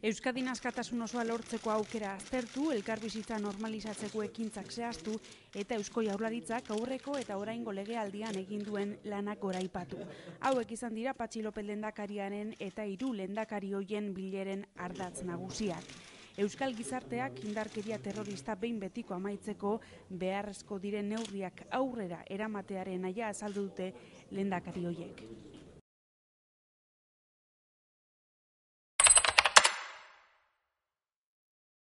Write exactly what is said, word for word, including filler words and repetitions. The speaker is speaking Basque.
Euskadin askatasun osoa lortzeko aukera aztertu, elkarbizitza normalizatzeko ekintzak zehaztu eta Eusko Jaurlaritzak aurreko eta oraingo legealdian egin duen lanak goraipatu. Hauek izan dira Patxi López lehendakariaren eta hiru lehendakari hoien bileren ardatz nagusiak. Euskal gizarteak indarkeria terrorista behin betiko amaitzeko beharrezko diren neurriak aurrera eramatearen nahia azaldu dute lehendakari hoiek.